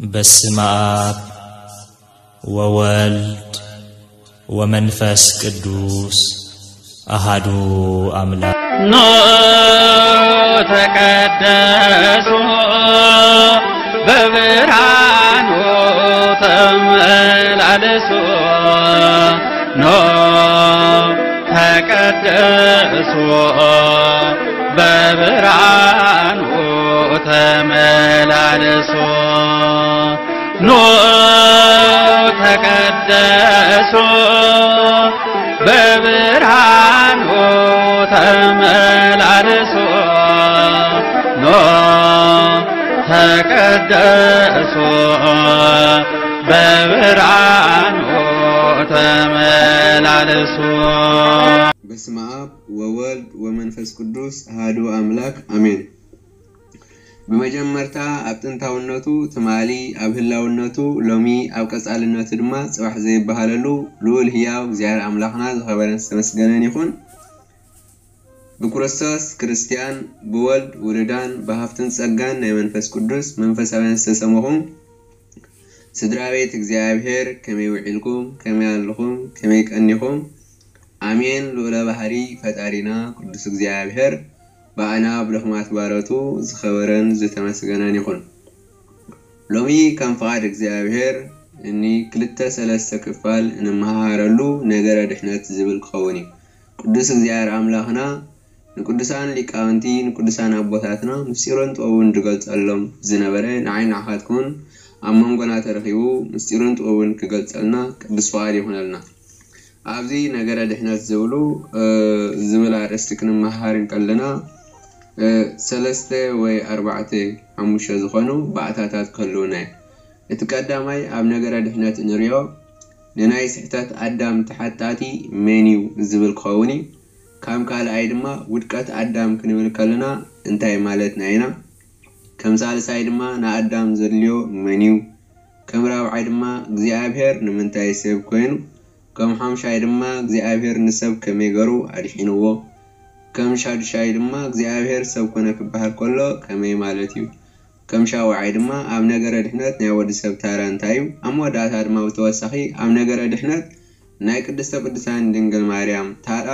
በስመ አብ ወወልድ ወመንፈስ ቅዱስ አሃዱ አምላክ። ኖ ተቀደሱ በብርሃኑ ተመላለሱ። ኖ ተቀደሱ በብርሃኑ ተመላለሱ። ኖ ተቀደሱ በብርሃኑ ተመላለሱ። ኖ ተቀደሱ በብርሃኑ ተመላለሱ። በስመ አብ ወወልድ ወመንፈስ ቅዱስ አሐዱ አምላክ አሜን። ብመጀመርታ ኣብ ጥንታውነቱ ትማሊ፣ ኣብ ህላውነቱ ሎሚ፣ ኣብ ቀጻልነቱ ድማ ጽባሕ ዘይበሃለሉ ልዑል ህያው እግዚኣብሔር ኣምላኽና ዝኸበረን ዝተመስገነን ይኹን። ብክርስቶስ ክርስትያን፣ ብወልድ ውሉዳን፣ ብሃፍትን ጸጋን ናይ መንፈስ ቅዱስ መንፈሳውያን ዝተሰመኹም ስድራ ቤት እግዚኣብሔር፣ ከመይ ውዒልኩም? ከመይ ኣለኹም? ከመይ ቀኒኹም? ኣሜን። ልዑለ ባህሪ ፈጣሪና ቅዱስ እግዚኣብሔር ብኣና ብድኹማት ባሮቱ ዝኸበረን ዝተመስገነን ይኹን። ሎሚ ከም ፍቓድ እግዚኣብሔር እኒ ክልተ ሰለስተ ክፋል እንመሃሃረሉ ነገረ ድሕነት ዝብል ክኸውን እዩ። ቅዱስ እግዚኣብሔር ኣምላኽና ንቅዱሳን ሊቃውንቲ ንቅዱሳን ኣቦታትና ምስጢሩን ጥበቡን ዝገልጸሎም ዝነበረ ንዓይ ንዓኻትኩን ኣብ መንጎና ተረኺቡ ምስጢሩን ጥበቡን ክገልጸልና ቅዱስ ፍቓድ ይኹነልና። ኣብዚ ነገረ ድሕነት ዝብሉ ዝብል ኣርእስቲ ክንመሃር እንከለና ሰለስተ ወይ ኣርባዕተ ሓሙሽተ ዝኾኑ ባእታታት ክህልውና እዩ። እቲ ቀዳማይ ኣብ ነገረ ድሕነት እንሪኦ ንናይ ስሕተት ኣዳም ተሓታቲ መን እዩ ዝብል ክኸውን እዩ። ካብ ካልኣይ ድማ ውድቀት ኣዳም ክንብል ከለና እንታይ ማለትና ኢና? ከም ሳልሳይ ድማ ንኣዳም ዘድልዮ መን እዩ? ከም ራብዓይ ድማ እግዚኣብሔር ንምንታይ ሰብ ኮይኑ? ከም ሓምሻይ ድማ እግዚኣብሔር ንሰብ ከመይ ገሩ ኣድሒንዎ? ከም ሻዱሻይ ድማ እግዚኣብሔር ሰብ ኮነ ክበሃል ከሎ ከመይ ማለት እዩ? ከም ሻውዓይ ድማ ኣብ ነገረ ድሕነት ናይ ወዲ ሰብ ታራ እንታይ እዩ? ኣብ መወዳእታ ድማ ብተወሳኺ ኣብ ነገረ ድሕነት ናይ ቅድስተ ቅዱሳን ድንግል ማርያም ታራ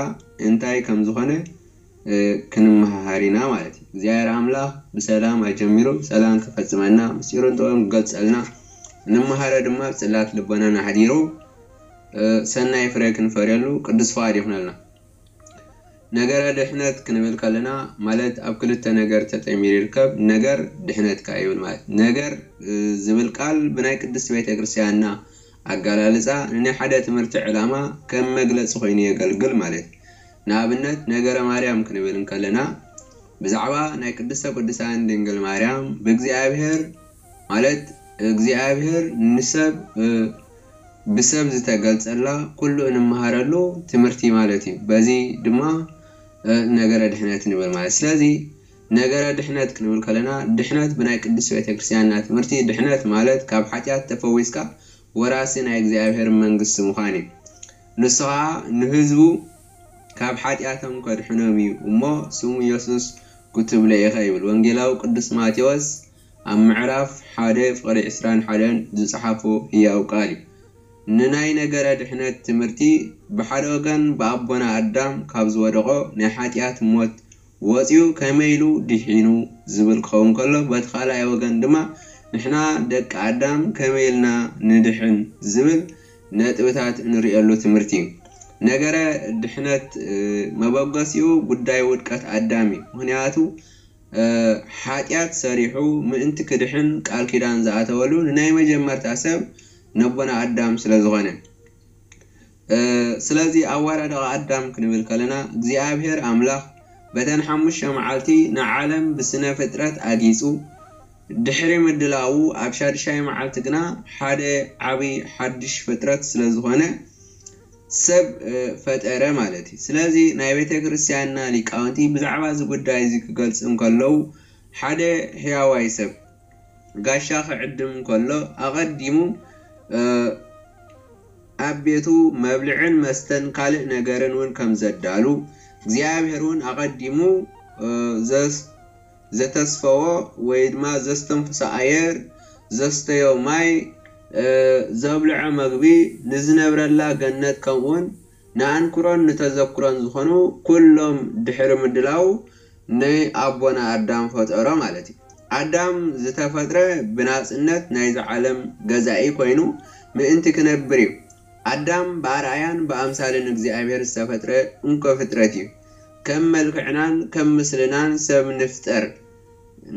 እንታይ ከም ዝኾነ ክንመሃሃር ኢና ማለት እዩ። እግዚኣብሔር ኣምላኽ ብሰላም ኣጀሚሩ ብሰላም ክፈጽመና ምስጢሩን ጥበቡን ክገልጸልና ንመሃረ ድማ ኣብ ጽላት ልቦናና ኣሕዲሩ ሰናይ ፍረ ክንፈርየሉ ቅዱስ ፍቓድ ይኹነልና። ነገረ ድሕነት ክንብል ከለና ማለት ኣብ ክልተ ነገር ተጠሚሩ ይርከብ። ነገር ድሕነት ከኣ ይብል ማለት ነገር ዝብል ቃል ብናይ ቅድስት ቤተ ክርስቲያንና ኣገላልጻ ንናይ ሓደ ትምህርቲ ዕላማ ከም መግለጺ ኮይኑ የገልግል ማለት እዩ። ንኣብነት ነገረ ማርያም ክንብል እንከለና ብዛዕባ ናይ ቅድስተ ቅዱሳን ድንግል ማርያም ብእግዚኣብሔር ማለት እግዚኣብሔር ንሰብ ብሰብ ዝተገልጸላ ኩሉ እንመሃረሉ ትምህርቲ ማለት እዩ። በዚ ድማ ነገረ ድሕነት ንብል ማለት። ስለዚ ነገረ ድሕነት ክንብል ከለና ድሕነት ብናይ ቅድስት ቤተክርስትያንና ትምህርቲ ድሕነት ማለት ካብ ሓጢኣት ተፈዊስካ ወራሲ ናይ እግዚኣብሔር መንግስቲ ምዃን እዩ። ንሱ ኸዓ ንህዝቡ ካብ ሓጢኣቶም ከድሕኖም እዩ እሞ ስሙ የሱስ ክትብሎ ኢኻ ይብል ወንጌላዊ ቅዱስ ማቴዎስ ኣብ ምዕራፍ ሓደ ፍቕዲ ዕስራን ሓደን ዝጸሓፎ ህያው ቃል እዩ። ንናይ ነገረ ድሕነት ትምህርቲ ብሓደ ወገን ብኣቦና ኣዳም ካብ ዝወደቖ ናይ ሓጢኣት ሞት ወጺኡ ከመይ ኢሉ ድሒኑ ዝብል ክኸውን ከሎ በቲ ካልኣይ ወገን ድማ ንሕና ደቂ ኣዳም ከመይ ኢልና ንድሕን ዝብል ነጥብታት እንርእየሉ ትምህርቲ እዩ። ነገረ ድሕነት መበገሲኡ ጉዳይ ውድቀት ኣዳም እዩ። ምኽንያቱ ሓጢኣት ሰሪሑ ምእንቲ ክድሕን ቃል ኪዳን ዝኣተወሉ ንናይ መጀመርታ ሰብ ነቦና ኣዳም ስለ ዝኾነ። ስለዚ ኣወዳድቓ ኣዳም ክንብል ከለና እግዚኣብሔር ኣምላኽ በተን ሓሙሽተ መዓልቲ ንዓለም ብስነ ፍጥረት ኣጊጹ ድሕሪ ምድላዉ ኣብ ሻድሻይ መዓልቲ ግና ሓደ ዓቢ ሓድሽ ፍጥረት ስለ ዝኾነ ሰብ ፈጠረ ማለት እዩ። ስለዚ ናይ ቤተ ክርስቲያንና ሊቃውንቲ ብዛዕባ እዚ ጉዳይ እዚ ክገልጹ እንከለዉ ሓደ ሕያዋይ ሰብ ጋሻ ክዕድም እንከሎ ኣቐዲሙ ኣብ ቤቱ መብልዕን መስተን ካልእ ነገርን እውን ከም ዘዳሉ እግዚኣብሔር እውን ኣቐዲሙ ዘተስፈዎ ወይ ድማ ዘስተንፍሶ ኣየር ዘስተዮ ማይ፣ ዘብልዖ መግቢ፣ ንዝነብረላ ገነት ከምኡውን ንኣንክሮን ንተዘክሮን ዝኾኑ ኩሎም ድሕሪ ምድላው ናይ ኣቦና ኣዳም ፈጠሮ ማለት እዩ። ኣዳም ዝተፈጥረ ብናጽነት ናይዚ ዓለም ገዛኢ ኮይኑ ምእንቲ ክነብር እዩ። ኣዳም ብኣርኣያን ብኣምሳልን እግዚኣብሔር ዝተፈጥረ እንኮ ፍጥረት እዩ። ከም መልክዕናን ከም ምስልናን ሰብ ንፍጠር፣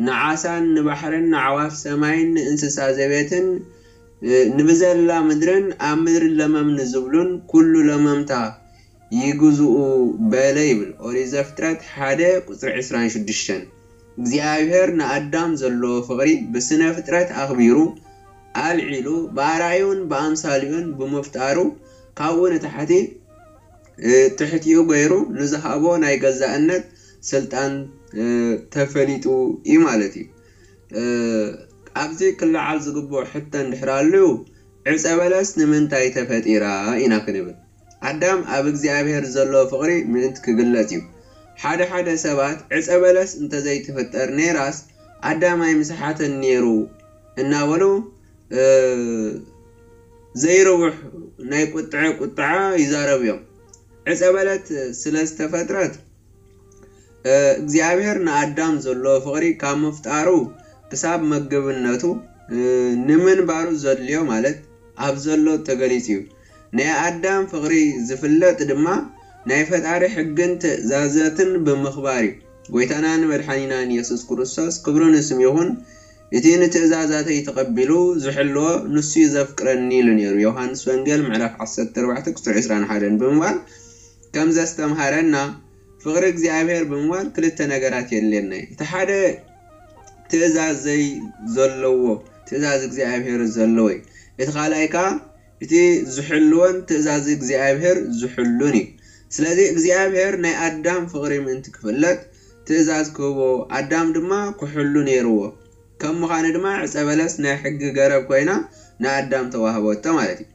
ንዓሳን ንባሕርን ንዓዋፍ ሰማይን ንእንስሳ ዘቤትን ንብዘላ ምድርን ኣብ ምድሪ ለመም ንዝብሉን ኩሉ ለመምታ ይግዝኡ በለ ይብል ኦሪት ዘፍጥረት ሓደ ቁፅሪ ዕስራን ሽዱሽተን። እግዚኣብሔር ንኣዳም ዘለዎ ፍቕሪ ብስነ ፍጥረት ኣኽቢሩ ኣልዒሉ ብኣርኣዩን ብኣምሳሊኡን ብምፍጣሩ ካብኡ ንታሕቲ ትሕቲኡ ገይሩ ንዝሃቦ ናይ ገዛእነት ስልጣን ተፈሊጡ እዩ ማለት እዩ። ኣብዚ ክለዓል ዝግብኦ ሕቶ እንድሕር ኣልዩ ዕፀ በለስ ንምንታይ ተፈጢራ ኢና ክንብል ኣዳም ኣብ እግዚኣብሔር ዘሎ ፍቕሪ ምእንቲ ክግለጽ እዩ። ሓደ ሓደ ሰባት ዕፀ በለስ እንተዘይትፍጠር ነይራስ ኣዳም ኣይምሰሓተን ነይሩ እናበሉ ዘይርውሕ ናይ ቁጥዐ ቁጥዓ ይዛረቡ እዮም። ዕፀ በለስ ስለ ዝተፈጥረት እግዚኣብሔር ንኣዳም ዘሎ ፍቕሪ ካብ ምፍጣሩ ክሳብ መገብነቱ ንምንባሩ ዘድልዮ ማለት ኣብ ዘሎ ተገሊጹ እዩ። ናይ ኣዳም ፍቕሪ ዝፍለጥ ድማ ናይ ፈጣሪ ሕግን ትእዛዛትን ብምኽባር እዩ። ጎይታናን መድሓኒናን የሱስ ክርስቶስ ክብሪ ንስም ይኹን እቲ ንትእዛዛተይ ተቐቢሉ ዝሕልዎ ንሱ እዩ ዘፍቅረኒ ኢሉ ነይሩ። ዮሃንስ ወንጌል ምዕራፍ ዓሰርተ ኣርባዕተ ቁፅሪ ዕስራን ሓደን ብምባል ከም ዘስተምሃረና ፍቕሪ እግዚኣብሔር ብምባል ክልተ ነገራት የድልየና እዩ። እቲ ሓደ ትእዛዝ ዘይ ዘለዎ ትእዛዝ እግዚኣብሔር ዘለዎ እዩ። እቲ ካልኣይ ከዓ እቲ ዝሕልወን ትእዛዝ እግዚኣብሔር ዝሕሉን እዩ። ስለዚ እግዚኣብሔር ናይ ኣዳም ፍቕሪ ምእንቲ ክፍለጥ ትእዛዝ ክህቦ ኣዳም ድማ ክሕሉ ነይርዎ። ከም ምዃኑ ድማ ዕፀ በለስ ናይ ሕጊ ገረብ ኮይና ንኣዳም ተዋህበቶ ማለት እዩ።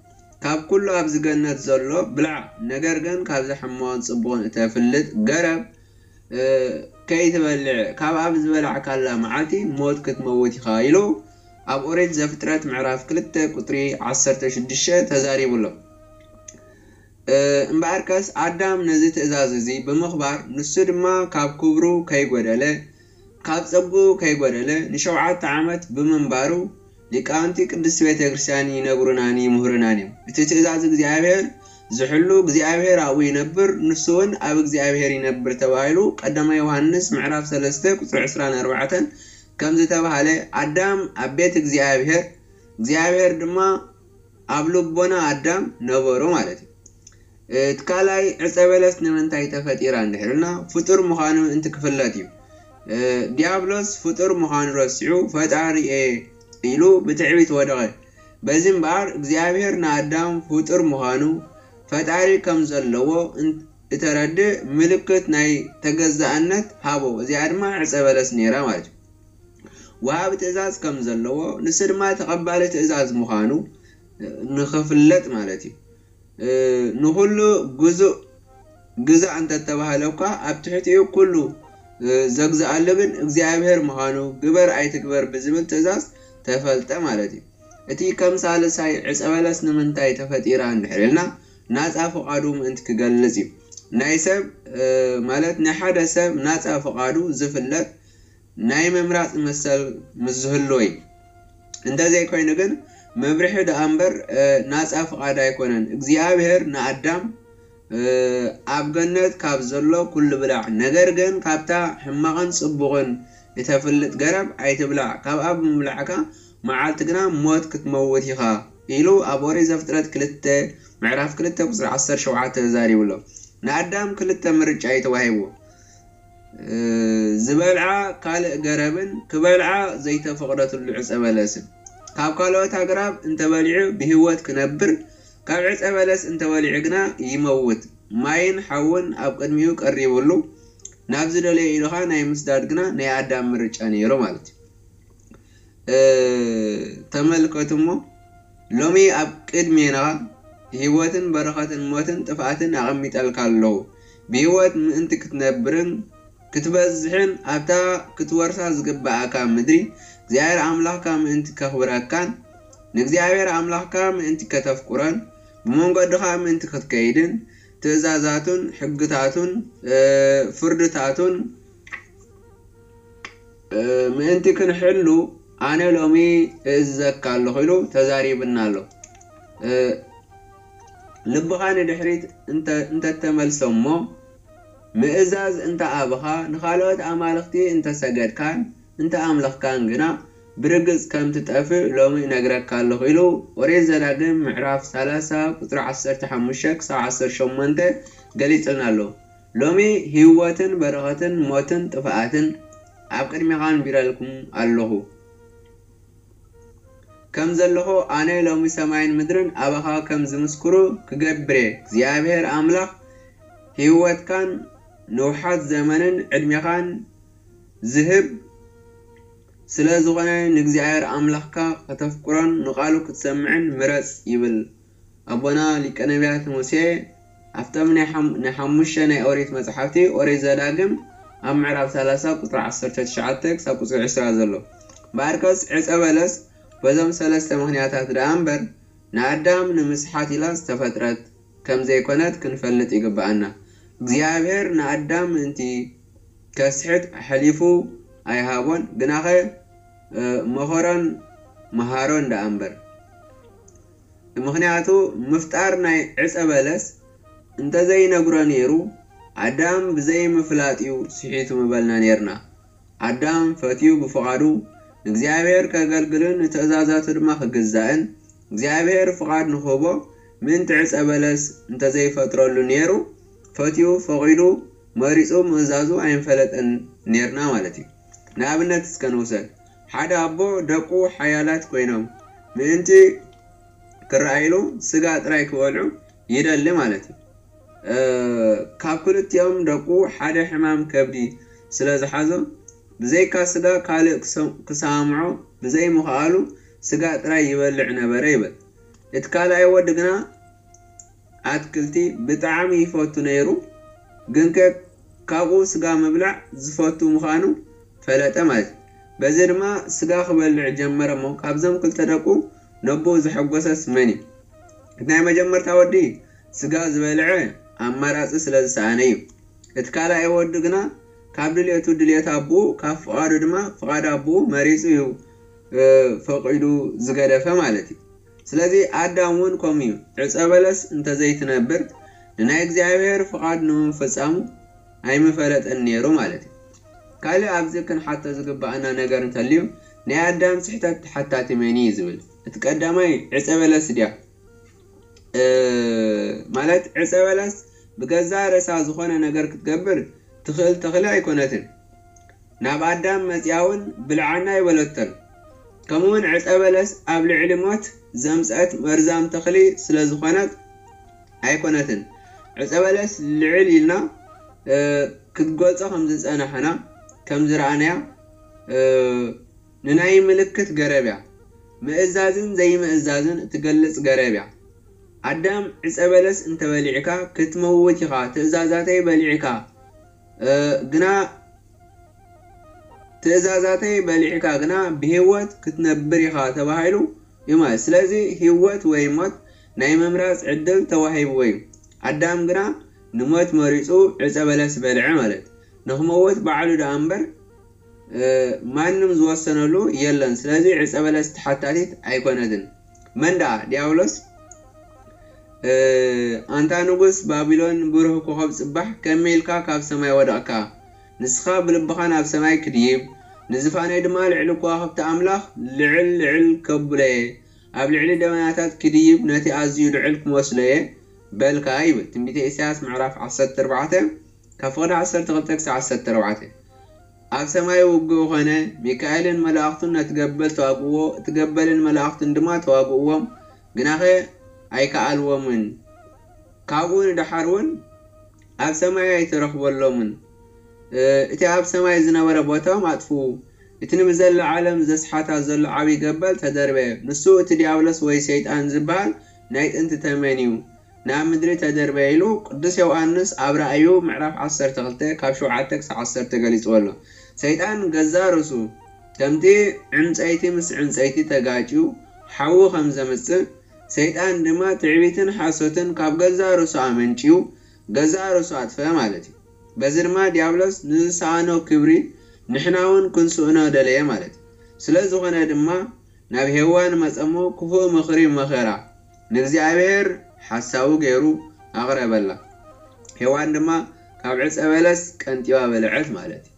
ካብ ኩሉ ኣብዚ ገነት ዘሎ ብላዕ፣ ነገር ግን ካብዚ ሕማቕን ጽቡቕን እተፍልጥ ገረብ ከይትበልዕ፣ ካብ ኣብ ዝበላዕካላ መዓልቲ ሞት ክትመውት ኢኻ ኢሉ ኣብ ኦሪት ዘፍጥረት ምዕራፍ ክልተ ቁጽሪ ዓሰርተ ሽዱሽተ ተዛሪቡ ኣሎ። እምበኣርከስ ኣዳም ነዚ ትእዛዝ እዚ ብምኽባር ንሱ ድማ ካብ ክብሩ ከይጎደለ ካብ ጸግኡ ከይጎደለ ንሸውዓተ ዓመት ብምንባሩ ሊቃውንቲ ቅድስት ቤተ ክርስቲያን ይነግሩናን ይምህሩናን እዮም። እቲ ትእዛዝ እግዚኣብሔር ዝሕሉ እግዚኣብሔር ኣብኡ ይነብር፣ ንሱ እውን ኣብ እግዚኣብሔር ይነብር ተባሂሉ ቀዳማይ ዮሃንስ ምዕራፍ ሰለስተ ቁጽሪ ዕስራን ኣርባዕተን ከም ዝተባህለ ኣዳም ኣብ ቤት እግዚኣብሔር እግዚኣብሔር ድማ ኣብ ልቦና ኣዳም ነበሩ ማለት እዩ። እቲ ካልኣይ ዕፀ በለስ ንምንታይ ተፈጢራ እንድሕር ኢልና ፍጡር ምዃኑ እንትክፍለጥ እዩ። ዲያብሎስ ፍጡር ምዃኑ ረሲዑ ፈጣሪ እየ ኢሉ ብትዕቢት ወደቐ። በዚ እምበኣር እግዚኣብሔር ንኣዳም ፍጡር ምዃኑ ፈጣሪ ከም ዘለዎ እተረድእ ምልክት ናይ ተገዛእነት ሃቦ። እዚኣ ድማ ዕፀ በለስ ነይራ ማለት እዩ። ወሃቢ ትእዛዝ ከም ዘለዎ ንሱ ድማ ተቐባሊ ትእዛዝ ምዃኑ ንኽፍለጥ ማለት እዩ። ንኹሉ ግዙእ ግዛእ እንተተባህለ እኳ ኣብ ትሕቲኡ ኩሉ ዘግዝኣሉ ግን እግዚኣብሔር ምዃኑ ግበር ኣይትግበር ብዝብል ትእዛዝ ተፈልጠ ማለት እዩ። እቲ ከም ሳልሳይ ዕፀ በለስ ንምንታይ ተፈጢራ እንድሕር ኢልና ናፃ ፍቓዱ ምእንቲ ክገልፅ እዩ። ናይ ሰብ ማለት ናይ ሓደ ሰብ ናፃ ፍቓዱ ዝፍለጥ ናይ ምምራፅ መሰል ምስ ዝህልዎ እዩ። እንተዘይኮይኑ ግን መብርሒ ደኣ እምበር ናፃ ፍቓድ ኣይኮነን። እግዚኣብሔር ንኣዳም ኣብ ገነት ካብ ዘሎ ኩሉ ብላዕ፣ ነገር ግን ካብታ ሕማቕን ፅቡቕን እተፍልጥ ገረብ ኣይትብላዕ፣ ካብኣ ብምብላዕካ መዓልቲ ግና ሞት ክትመውት ኢኻ ኢሉ ኣብ ኦሪት ዘፍጥረት ክልተ ምዕራፍ ክልተ ቁፅሪ ዓሰርተ ሸውዓተ ተዛሪቡ ኣሎ። ንኣዳም ክልተ ምርጫ እዩ ተዋሂብዎ። ዝበልዓ ካልእ ገረብን ክበልዓ ዘይተፈቕደትሉ ዕፀ በለስን። ካብ ካልኦት ኣግራብ እንተበሊዑ ብህይወት ክነብር፣ ካብ ዕፀ በለስ እንተበሊዑ ግና ይመውት። ማይን ሓውን ኣብ ቅድሚኡ ቀሪቡሉ፣ ናብ ዝደለዮ ኢሉ ኸዓ ናይ ምስዳድ ግና ናይ ኣዳም ምርጫ ነይሩ ማለት እዩ። ተመልከቱ እሞ ሎሚ ኣብ ቅድሜና ህይወትን በረኸትን ሞትን ጥፍኣትን ኣቐሚጠልካ ኣለኹ። ብህይወት ምእንቲ ክትነብርን ክትበዝሕን ኣብታ ክትወርሳ ዝግብኣካ ምድሪ እግዚኣብሔር ኣምላኽካ ምእንቲ ከኽብረካን ንእግዚኣብሔር ኣምላኽካ ምእንቲ ከተፍቅሮን ብመንገድኻ ምእንቲ ክትከይድን ትእዛዛቱን ሕግታቱን ፍርድታቱን ምእንቲ ክንሕሉ ኣነ ሎሚ እእዝዘካ ኣለኹ ኢሉ ተዛሪብና ኣሎ። ልብኻ ንድሕሪት እንተተመልሰ እሞ ምእዛዝ እንተ ኣብኻ ንኻልኦት ኣማልኽቲ እንተሰገድካን እንተ ኣምለኽካን ግና ብርግጽ ከም ትጠፍእ ሎሚ እነግረካ ኣለኹ ኢሉ ኦሪት ዘዳግም ምዕራፍ ሰላሳ ቁጽሪ ዓሰርተ ሓሙሽተ ክሳብ ዓሰርተ ሸሞንተ ገሊጽልና ኣሎ። ሎሚ ህይወትን በረኸትን ሞትን ጥፍኣትን ኣብ ቅድሜኻ ኣንቢረልኩም ኣለኹ። ከም ዘለኹ ኣነ ሎሚ ሰማይን ምድርን ኣባኻ ከም ዝምስክሩ ክገብር እየ። እግዚኣብሔር ኣምላኽ ህይወትካን ንውሓት ዘመንን ዕድሜኻን ዝህብ ስለ ዝኾነ ንእግዚኣብሔር ኣምላኽካ ከተፍቅሮን ንቓሉ ክትሰምዕን ምረጽ ይብል ኣቦና ሊቀ ነቢያት ሙሴ። ኣብቶም ናይ ሓሙሽተ ናይ ኦሪት መጽሓፍቲ ኦሪት ዘዳግም ኣብ ምዕራፍ ሰላሳ ቁጽሪ ዓሰርተ ትሽዓተ ክሳብ ቁጽሪ ዕስራ ዘሎ እምበኣርከስ ዕጸ በለስ በዞም ሰለስተ ምኽንያታት ደኣ እምበር ንኣዳም ንምስሓት ኢላ ዝተፈጥረት ከም ዘይኮነት ክንፈልጥ ይግብኣና። እግዚኣብሔር ንኣዳም ምእንቲ ከስሕት ኣሕሊፉ ኣይሃቦን፣ ግናኸ መኸሮን መሃሮን ደኣ እምበር። ምኽንያቱ ምፍጣር ናይ ዕጸ በለስ እንተዘይነግሮ ነይሩ ኣዳም ብዘይምፍላጥ እዩ ስሒቱ ምበልና ነይርና። ኣዳም ፈትዩ ብፍቓዱ ንእግዚኣብሔር ከገልግልን ንትእዛዛቱ ድማ ክግዛእን እግዚኣብሔር ፍቓድ ንኽህቦ ምእንቲ ዕፀ በለስ እንተዘይፈጥረሉ ነይሩ ፈትዩ ፈቒዱ መሪፁ ምእዛዙ ኣይንፈለጠን ነይርና ማለት እዩ። ንኣብነት እስከ ንውሰድ። ሓደ ኣቦ ደቁ ሓያላት ኮይኖም ምእንቲ ክረኣይሉ ስጋ ጥራይ ክበልዑ ይደሊ ማለት እዩ። ካብ ክልቲኦም ደቁ ሓደ ሕማም ከብዲ ስለ ዝሓዞ ብዘይካ ስጋ ካልእ ክሰምዖ ብዘይምኽኣሉ ስጋ ጥራይ ይበልዕ ነበረ ይብል። እቲ ካልኣይ ወዲ ግና ኣትክልቲ ብጣዕሚ ይፈቱ ነይሩ፣ ግንከ ካብኡ ስጋ ምብላዕ ዝፈቱ ምዃኑ ፈለጠ ማለት እዩ። በዚ ድማ ስጋ ክበልዕ ጀመረ እሞ ካብዞም ክልተ ደቁ ነቦኡ ዘሐጎሰስ መን እዩ? እቲ ናይ መጀመርታ ወዲ ስጋ ዝበልዐ ኣማራጺ ስለ ዝሰኣነ እዩ። እቲ ካልኣይ ወዲ ግና ካብ ድልየቱ ድልየት ኣቦኡ ካብ ፍቓዱ ድማ ፍቓድ ኣቦኡ መሪጹ እዩ ፈቒዱ ዝገደፈ ማለት እዩ። ስለዚ ኣዳም እውን ከምኡ እዩ። ዕፀ በለስ እንተዘይትነብር ንናይ እግዚኣብሔር ፍቓድ ንምፍጻሙ ኣይምፈለጠን ነይሩ ማለት እዩ። ካልእ ኣብዚ ክንሓቶ ዝግብኣና ነገር እንተልዩ ናይ ኣዳም ስሕተት ተሓታቲ መን እዩ ዝብል እቲ ቀዳማይ ዕፀ በለስ ድያ ማለት ዕፀ በለስ ብገዛ ርእሳ ዝኾነ ነገር ክትገብር ትኽእል ተኽሊ ኣይኮነትን። ናብ ኣዳም መጺኣ እውን ብልዓና ኣይበለቶን። ከምኡውን ዕፀ በለስ ኣብ ልዕሊ ሞት ዘምፀአት መርዛም ተኽሊ ስለ ዝኾነት ኣይኮነትን። ዕፀ በለስ ልዕል ኢልና ክትገልፆ ከም ዝፀናሕና ከም ዝረኣናያ ንናይ ምልክት ገረብ እያ። ምእዛዝን ዘይምእዛዝን እትገልጽ ገረብ እያ። ኣዳም ዕፀ በለስ እንተበሊዕካ ክትመውት ኢኻ፣ ትእዛዛተይ በሊዕካ ግና ትእዛዛተይ በሊዕካ ግና ብህይወት ክትነብር ኢኻ ተባሂሉ እዩ ማለት። ስለዚ ህይወት ወይ ሞት ናይ ምምራፅ ዕድል ተዋሂብዎ እዩ። ኣዳም ግና ንሞት መሪፁ ዕፀ በለስ በልዐ ማለት ንኽመውት ባዕሉ ደኣ እምበር ማንም ዝወሰነሉ የለን። ስለዚ ዕፀ በለስ ተሓታቲት ኣይኮነትን። መን ደኣ? ዲያብሎስ። ኣንታ ንጉስ ባቢሎን ብሩህ ኮኸብ ጽባሕ ከመይ ኢልካ ካብ ሰማይ ወደቕካ? ንስኻ ብልብኻ ናብ ሰማይ ክድይብ ንዝፋነይ ድማ ልዕሊ ከዋኽብቲ ኣምላኽ ልዕል ልዕል ከብሎ እየ። ኣብ ልዕሊ ደበናታት ክድይብ ነቲ ኣዝዩ ልዑል ክመስሎ እየ በልካ ይብል ትንቢተ ኢሳያስ ምዕራፍ ዓሰርተ ኣርባዕተ ካብ ፍቕዲ ዓሰርተ ክልተ ክሳብ ዓሰርተ ኣርባዕተ። ኣብ ሰማይ ውግእ ኾነ፣ ሚካኤልን መላእኽቱን ነቲ ገበል ተዋግእዎ፣ እቲ ገበልን መላእኽቱን ድማ ተዋግእዎም፣ ግናኸ ኣይከኣልዎምን። ካብኡ ንደሓር እውን ኣብ ሰማይ ኣይተረኽበሎምን። እቲ ኣብ ሰማይ ዝነበረ ቦታኦም ኣጥፍኡ። እቲ ንብዘላ ዓለም ዘስሓታ ዘሎ ዓብዪ ገበል ተደርበየ። ንሱ እቲ ዲያብሎስ ወይ ሰይጣን ዝበሃል ናይ ጥንቲ ተመን እዩ። ናብ ምድሪ ተደርበየ ኢሉ ቅዱስ ዮውሃንስ ኣብ ራእዩ ምዕራፍ ዓሰርተ ክልተ ካብ ሸውዓተ ክሳብ ዓሰርተ ገሊጽዎ ኣሎ። ሰይጣን ገዛእ ርእሱ ከምቲ ዕንፀይቲ ምስ ዕንፀይቲ ተጋጭዩ ሓዊ ከም ዘምፅእ፣ ሰይጣን ድማ ትዕቢትን ሓሶትን ካብ ገዛእ ርእሱ ኣመንጭዩ ገዛእ ርእሱ ኣጥፈአ ማለት እዩ። በዚ ድማ ዲያብሎስ ንዝሰኣኖ ክብሪ ንሕና እውን ክንስእኖ ደለየ ማለት እዩ። ስለ ዝኾነ ድማ ናብ ሄዋን መጸሞ ክፉእ ምኽሪ መኸራ ንእግዚኣብሔር ሓሳቡ ገይሩ ኣቕረበላ። ሄዋን ድማ ካብ ዕፀ በለስ ቀንጢባ በልዐት ማለት እዩ።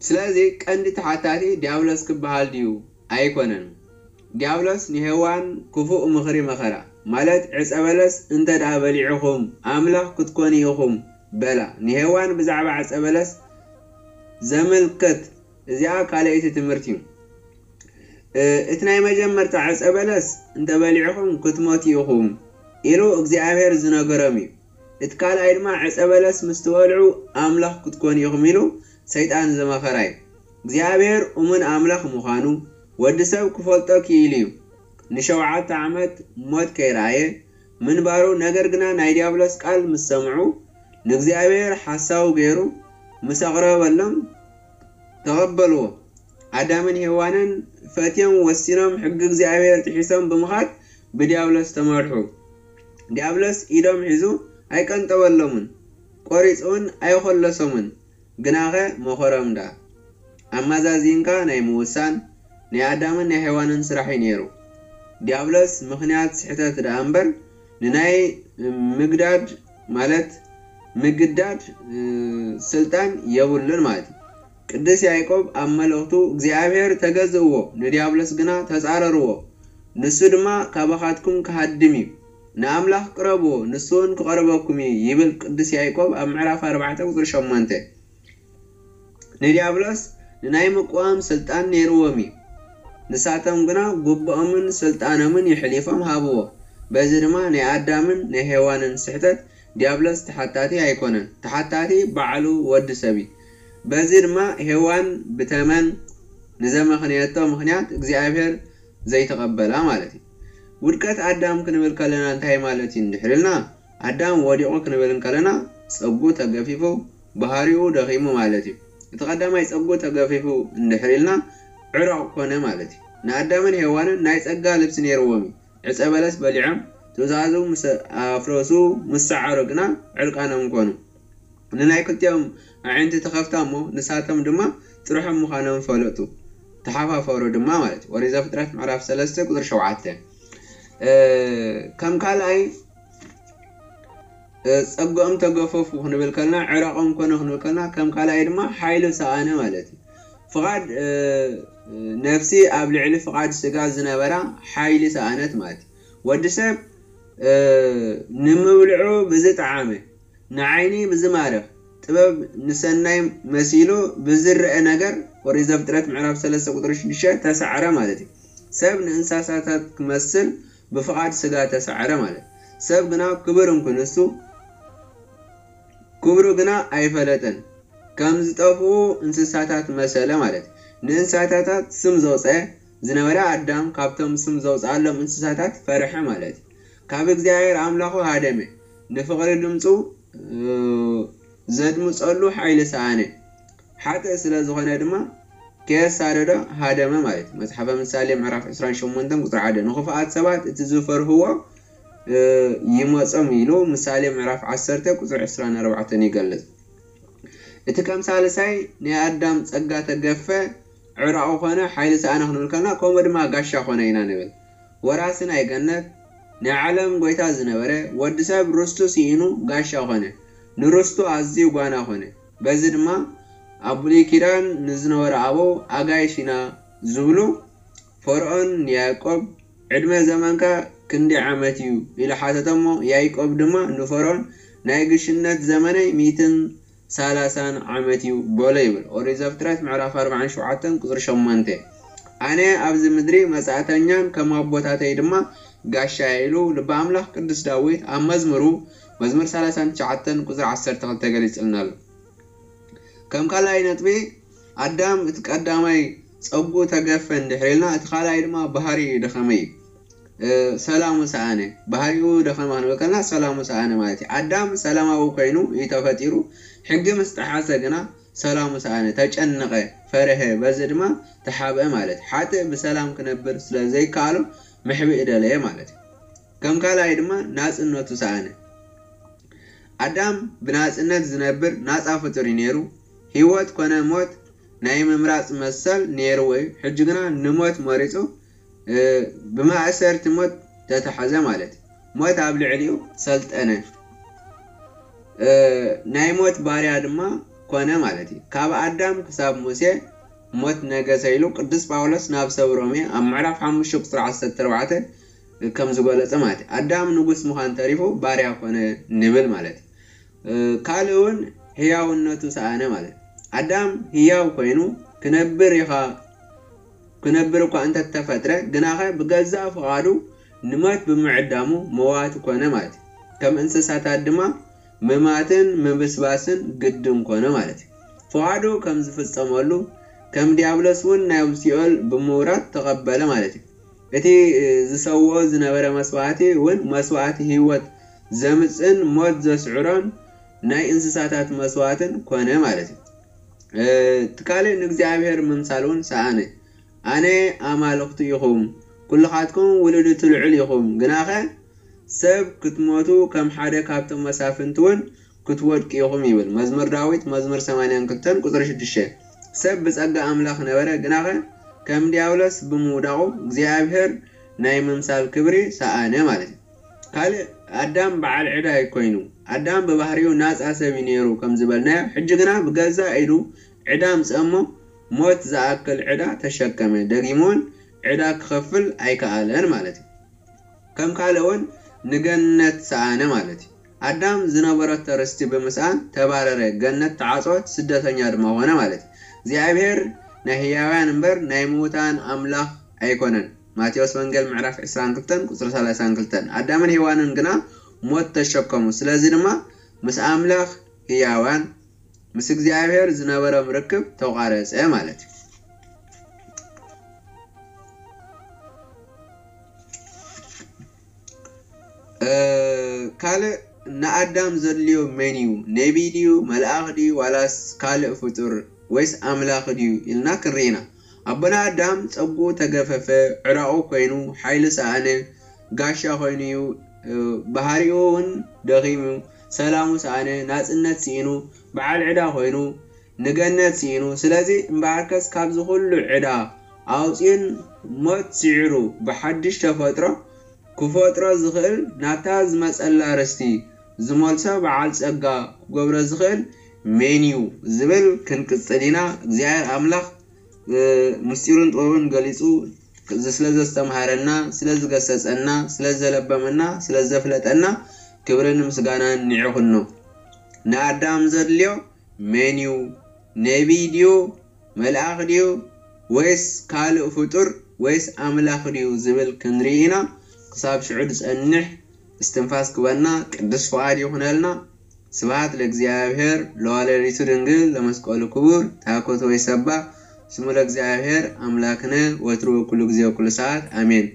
ስለዚ ቀንዲ ተሓታቲ ዲያብሎስ ክበሃል ድዩ? ኣይኮነን። ዲያብሎስ ንሄዋን ክፉእ ምኽሪ መኸራ፣ ማለት ዕፀ በለስ እንተ ደኣ በሊዕኹም ኣምላኽ ክትኮኑ ኢኹም በላ። ንሄዋን ብዛዕባ ዕፀ በለስ ዘመልከት እዚኣ ካልኣይቲ ትምህርቲ እዩ። እቲ ናይ መጀመርታ ዕፀ በለስ እንተ በሊዕኹም ክትሞቱ ኢኹም ኢሉ እግዚኣብሔር ዝነገሮም እዩ። እቲ ካልኣይ ድማ ዕፀ በለስ ምስ ትበልዑ ኣምላኽ ክትኮኑ ኢኹም ኢሉ ሰይጣን ዝመኸራ እዩ። እግዚኣብሔር እሙን ኣምላኽ ምዃኑ ወዲ ሰብ ክፈልጦ ክኢሉ እዩ። ንሸውዓተ ዓመት ሞት ከይረኣየ ምንባሩ፣ ነገር ግና ናይ ዲያብሎስ ቃል ምስ ሰምዑ ንእግዚኣብሔር ሓሳዊ ገይሩ ምስ ኣቕረበሎም ተቐበልዎ። ኣዳምን ሄዋንን ፈትዮም ወሲኖም ሕጊ እግዚኣብሔር ጥሒሶም ብምኻድ ብዲያብሎስ ተመርሑ። ዲያብሎስ ኢዶም ሒዙ ኣይቀንጠበሎምን፣ ቆሪጹ እውን ኣይኾለሶምን። ግናኸ መኸሮም ደኣ። ኣመዛዚንካ ናይ ምውሳን ናይ ኣዳምን ናይ ሄዋንን ስራሕ እዩ ነይሩ። ዲያብሎስ ምኽንያት ስሕተት ደኣ እምበር ንናይ ምግዳድ ማለት ምግዳድ ስልጣን የብሉን ማለት እዩ። ቅዱስ ያዕቆብ ኣብ መልእኽቱ እግዚኣብሔር ተገዝእዎ ንዲያብሎስ ግና ተጻረርዎ፣ ንሱ ድማ ካባኻትኩም ክሃድም እዩ። ንኣምላኽ ቅረብዎ ንሱ እውን ክቐርበኩም እዩ ይብል ቅዱስ ያዕቆብ ኣብ ምዕራፍ ኣርባዕተ ቁፅሪ ሸሞንተ። ንዲያብሎስ ንናይ ምቅዋም ስልጣን ነይርዎም እዩ። ንሳቶም ግና ጉብኦምን ስልጣኖምን የሕሊፎም ሃብዎ። በዚ ድማ ናይ ኣዳምን ናይ ሄዋንን ስሕተት ዲያብሎስ ተሓታቲ ኣይኮነን። ተሓታቲ ባዕሉ ወዲ ሰብ እዩ። በዚ ድማ ሄዋን ብተመን ንዘመኽንየቶ ምኽንያት እግዚኣብሔር ዘይተቐበላ ማለት እዩ። ውድቀት ኣዳም ክንብል ከለና እንታይ ማለት እዩ እንድሕር ኢልና፣ ኣዳም ወዲቑ ክንብል እንከለና ጸጉ ተገፊፉ ባህሪኡ ደኺሙ ማለት እዩ። እቲ ቀዳማይ ጸጉ ተገፊፉ እንድሕር ኢልና ዕረቕ ኮነ ማለት እዩ። ንኣዳምን ሄዋንን ናይ ጸጋ ልብሲ ነይርዎም እዩ። ዕፀ በለስ በሊዖም ትእዛዙ ምስ ኣፍረሱ ምስ ሰዓሩ ግና ዕርቃኖም ኮኑ። ንናይ ክልቲኦም ኣዒንቲ ተኸፍታ እሞ ንሳቶም ድማ ጥርሖም ምዃኖም ፈለጡ። ተሓፋፈሩ ድማ ማለት እዩ። ኦሪት ዘፍጥረት ምዕራፍ ሰለስተ ቁፅሪ ሸውዓተ። ከም ካልኣይ ጸግኦም ተገፈፉ ክንብል ከለና ዕረቆም ኮነ ክንብል ከለና ከም ካልኣይ ድማ ሓይሉ ሰኣነ ማለት እዩ። ፍቓድ ነፍሲ ኣብ ልዕሊ ፍቓድ ስጋ ዝነበራ ሓይሊ ሰኣነት ማለት እዩ። ወዲ ሰብ ንምብልዑ ብዝጠዓመ፣ ንዓይኒ ብዝማርኽ፣ ጥበብ ንሰናይ መሲሉ ብዝረአ ነገር ኦሪት ዘፍጥረት ምዕራፍ ሰለስተ ቁፅሪ ሽዱሽተ ተሳዕረ ማለት እዩ። ሰብ ንእንስሳታት ክመስል ብፍቓድ ስጋ ተሳዕረ ማለት። ሰብ ግና ክብር እንክንሱ ክብሩ ግና ኣይፈለጠን። ከም ዝጠፍኡ እንስሳታት መሰለ ማለት። ንእንስሳታት ስም ዘውፀ ዝነበረ ኣዳም ካብቶም ስም ዘውፅኣሎም እንስሳታት ፈርሐ ማለት። ካብ እግዚኣብሔር ኣምላኹ ሃደመ። ንፍቕሪ ድምፁ ዘድምፀሉ ሓይሊ ሰኣነ። ሓጥእ ስለ ዝኾነ ድማ ከየሳደዶ ሃደመ ማለት እዩ። መጽሓፈ ምሳሌ ምዕራፍ ዕስራን ሸሞንተን ቁጽሪ ሓደ፣ ንኽፉኣት ሰባት እቲ ዝፈርህዎ ይመጾም ኢሉ ምሳሌ ምዕራፍ ዓሰርተ ቁጽሪ ዕስራን ኣርባዕተን ይገልጽ። እቲ ከም ሳልሳይ ናይ ኣዳም ጸጋ ተገፈ፣ ዕራቑ ኾነ፣ ሓይሊ ሰኣነ ክንብል ከለና፣ ከምኡ ድማ ጋሻ ኾነ ኢና ንብል። ወራሲ ናይ ገነት ናይ ዓለም ጎይታ ዝነበረ ወዲ ሰብ ርስቱ ስኢኑ ጋሻ ኾነ፣ ንርስቱ ኣዝዩ ጓና ኾነ። በዚ ድማ ኣብ ብሉይ ኪዳን ንዝነበሩ ኣበው ኣጋይሽ ኢና ዝብሉ። ፈርዖን ንያዕቆብ ዕድመ ዘመንካ ክንደይ ዓመት እዩ ኢሉ ሓተቶ እሞ ያዕቆብ ድማ ንፈርዖን ናይ ግሽነት ዘመነይ ሚእትን ሰላሳን ዓመት እዩ በሎ ይብል። ኦሪት ዘፍጥረት ምዕራፍ ኣርባዓን ሸውዓተን ቁፅሪ ሸሞንተ። ኣነ ኣብዚ ምድሪ መጻእተኛን ከም ኣቦታተይ ድማ ጋሻ ኢሉ ልበ ኣምላኽ ቅዱስ ዳዊት ኣብ መዝሙሩ መዝሙር ሰላሳን ትሽዓተን ቁፅሪ ዓሰርተ ክልተ ገሊጽልና ኣሎ። ከም ካልኣይ ነጥቢ ኣዳም እቲ ቀዳማይ ጸጉኡ ተገፈ እንድሕር ኢልና እቲ ካልኣይ ድማ ባህሪ ደኸመ እዩ። ሰላሙ ሰኣነ። ባህሪኡ ደኸመ ክንብል ከለና ሰላሙ ሰኣነ ማለት እዩ። ኣዳም ሰላማዊ ኮይኑ እዩ ተፈጢሩ። ሕጊ ምስ ጠሓሰ ግና ሰላሙ ሰኣነ፣ ተጨነቐ፣ ፈረሀ፣ በዚ ድማ ተሓብአ ማለት እዩ። ሓጥእ ብሰላም ክነብር ስለ ዘይከኣሎ ምሕብኢ ደለየ ማለት እዩ። ከም ካልኣይ ድማ ናጽነቱ ሰኣነ። ኣዳም ብናጽነት ዝነብር ናጻ ፍጡር እዩ ነይሩ። ህይወት ኮነ ሞት ናይ ምምራጽ መሰል ነይርዎ እዩ። ሕጂ ግና ንሞት መሪጹ፣ እ፣ ብማእሰርቲ ሞት ተታሕዘ ማለት እዩ። ሞት ኣብ ልዕሊኡ ሰልጠነ። እ፣ ናይ ሞት ባርያ ድማ ኮነ ማለት እዩ። ካብ ኣዳም ክሳብ ሙሴ ሞት ነገሰ ኢሉ ቅዱስ ጳውሎስ ናብ ሰብ ሮሜ ኣብ ምዕራፍ ሓሙሽተ ቁጽሪ ዓሰርተ ኣርባዕተ ከም ዝገለጸ ማለት እዩ። ኣዳም ንጉስ ምዃን ተሪፉ ባርያ ኮነ ንብል ማለት እዩ። እ፣ ካልእ እውን ህያውነቱ ሰኣነ ማለት እዩ። ኣዳም ህያው ኮይኑ ክነብር ኢኻ ክነብር እኳ እንተተፈጥረ፣ ግናኸ ብገዛእ ፍቓዱ ንሞት ብምዕዳሙ መዋቲ ኮነ ማለት እዩ። ከም እንስሳታት ድማ ምማትን ምብስባስን ግድን ኮነ ማለት እዩ። ፍቓዱ ከም ዝፍጸመሉ፣ ከም ዲያብሎስ እውን ናብ ሲኦል ብምውራድ ተቐበለ ማለት እዩ። እቲ ዝሰውኦ ዝነበረ መስዋእቲ እውን መስዋእቲ ህይወት ዘምጽእን ሞት ዘስዕሮን ናይ እንስሳታት መስዋእትን ኮነ ማለት እዩ። እ፣ እቲ ካልእ ንእግዚኣብሔር ምምሳል እውን ሰኣነ። ኣነ ኣማልኽቱ ኢኹም፣ ኩልኻትኩም ውሉድ እቲ ልዑል ኢኹም፣ ግናኸ ሰብ ክትሞቱ ከም ሓደ ካብቶም መሳፍንቲ እውን ክትወድቁ ኢኹም ይብል። መዝሙር ዳዊት መዝሙር ሰማንያን ክልተን ቁጽሪ ሽዱሽተ። ሰብ ብጸጋ ኣምላኽ ነበረ፣ ግናኸ ከም ዲያብሎስ ብምውዳቑ እግዚኣብሔር ናይ ምምሳል ክብሪ ሰኣነ ማለት እዩ። ካልእ ኣዳም በዓል ዕዳ እዩ ኮይኑ። ኣዳም ብባህሪኡ ናጻ ሰብ እዩ ነይሩ ከም ዝበልናዮ፣ ሕጂ ግና ብገዛእ ኢዱ ዕዳ ኣምጽአ እሞ ሞት ዝኣክል ዕዳ ተሸከመ። ደጊሙ እውን ዕዳ ክኸፍል ኣይከኣለን ማለት እዩ። ከም ካልእ እውን ንገነት ሰኣነ ማለት እዩ። ኣዳም ዝነበረቶ ርስቲ ብምስኣን ተባረረ፣ ገነት ተዓጽወት፣ ስደተኛ ድማ ኾነ ማለት እዩ። እግዚኣብሔር ናይ ህያውያን እምበር ናይ ምዉታን ኣምላኽ ኣይኮነን። ማቴዎስ ወንጌል ምዕራፍ ዕስራን ክልተን ቁጽሪ ሰላሳን ክልተን። ኣዳምን ሄዋንን ግና ሞት ተሸከሙ። ስለዚ ድማ ምስ ኣምላኽ ህያዋን፣ ምስ እግዚኣብሔር ዝነበሮም ርክብ ተቋረጸ ማለት እዩ። እ፣ ካልእ ንኣዳም ዘድልዮ መን እዩ? ነቢይ ድዩ? መልኣኽ ድዩ? ዋላስ ካልእ ፍጡር? ወይስ ኣምላኽ ድዩ? ኢልና ክንርኢ ኢና። ኣቦና ኣዳም ጸጉኡ ተገፈፈ፣ ዕራቑ ኮይኑ፣ ሓይሊ ሰኣነ፣ ጋሻ ኮይኑ እዩ። እ፣ ባህሪኡ እውን ደኺሙ፣ ሰላሙ ሰኣነ፣ ናጽነት ስኢኑ፣ በዓል ዕዳ ኮይኑ፣ ንገነት ስኢኑ። ስለዚ እምበኣርከስ ካብዚ ኩሉ ዕዳ ኣውጽኡን ሞት ስዒሩ ብሓድሽ ተፈጥሮ ክፈጥሮ ዝኽእል፣ ናብታ ዝመጸላ ርስቲ ዝመልሶ በዓል ጸጋ ክገብሮ ዝኽእል መን እዩ ዝብል ክንቅጽል ኢና። እግዚኣብሔር ኣምላኽ፣ እ፣ ምስጢሩን ጥበቡን ገሊጹ፣ እዚ ስለ ዘስተምሃረና፣ ስለ ዝገሰጸና፣ ስለ ዘለበመና፣ ስለ ዘፍለጠና ክብርን ምስጋናን ንዕኹኖ። ንኣዳም ዘድልዮ መን እዩ? ነቢይ ድዩ? መልኣኽ ድዩ? ወይስ ካልእ ፍጡር? ወይስ ኣምላኽ ድዩ ዝብል ክንርኢ ኢና። ክሳብ ሽዑ ዝጸንሕ እስትንፋስ ክበና ቅዱስ ፍቓድ ይኹነልና። ስብሐት ለእግዚኣብሔር ለወላዲቱ ድንግል ለመስቀሉ ክቡር። ታኮት ወይ ሰባ ስሙ ለእግዚኣብሔር ኣምላክነ ወትሩ ወኩሉ ጊዜ ወኩሉ ሰዓት ኣሜን።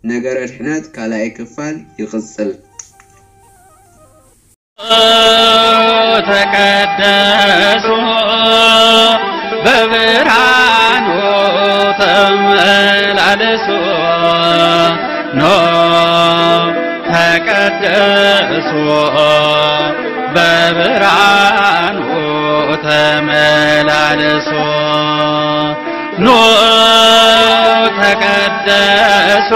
ነገረ ድሕነት ካልኣይ ክፋል ይቕጽል። ተቀደሱ በብርሃኑ ተመላለሱ። ኖ ተቀደሱ በብርሃኑ ተመላለሱ። ኑ ተቀደሱ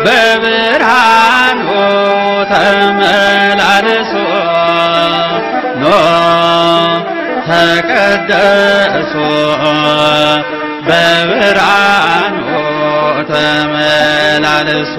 በብርሃኑ ተመላለሱ። ኑ ተቀደሱ በብርሃኑ ተመላለሱ።